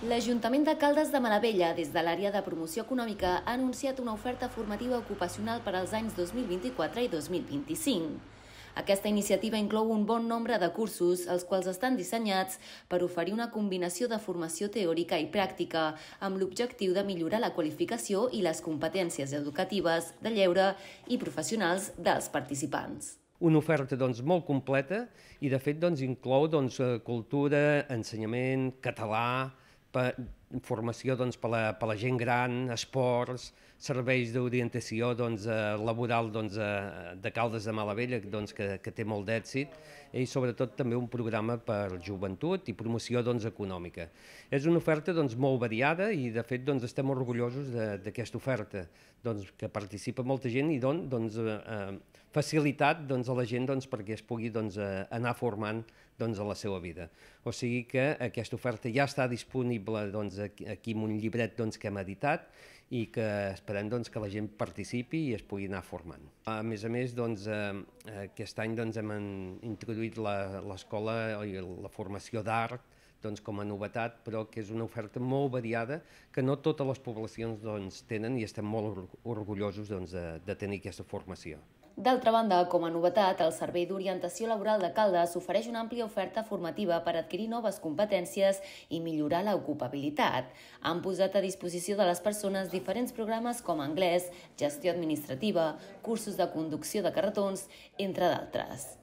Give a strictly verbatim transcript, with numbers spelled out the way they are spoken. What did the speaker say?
L'Ajuntament de Caldes de Malavella, des de l'àrea de promoció econòmica, ha anunciat una oferta formativa ocupacional per als anys dos mil vint-i-quatre i dos mil vint-i-cinc. Aquesta iniciativa inclou un bon nombre de cursos, els quals estan dissenyats per oferir una combinació de formació teòrica i pràctica, amb l'objectiu de millorar la qualificació i les competències educatives, de lleure i professionals dels participants. Una oferta doncs, molt completa i de fet doncs, inclou doncs, cultura, ensenyament, català, per, formació doncs, per, la, per la gent gran, esports, serveis d'orientació doncs, laboral doncs, de Caldes de Malavella, doncs, que, que té molt d'èxit, i sobretot també un programa per joventut i promoció doncs, econòmica. És una oferta doncs, molt variada i de fet doncs, estem orgullosos d'aquesta oferta, doncs, que participa molta gent i don, doncs, eh, facilitat doncs, a la gent doncs, perquè es pugui doncs, anar formant doncs, a la seva vida. O sigui que aquesta oferta ja està disponible doncs, aquí en un llibret doncs, que hem editat i que esperem doncs, que la gent participi i es pugui anar formant. A més a més, doncs, eh, aquest any doncs, hem introduït l'escola i la formació d'art doncs, com a novetat, però que és una oferta molt variada que no totes les poblacions doncs, tenen i estem molt orgullosos doncs, de, de tenir aquesta formació. D'altra banda, com a novetat, el Servei d'Orientació Laboral de Caldes ofereix una àmplia oferta formativa per adquirir noves competències i millorar l'ocupabilitat. Han posat a disposició de les persones diferents programes com anglès, gestió administrativa, cursos de conducció de carretons, entre d'altres.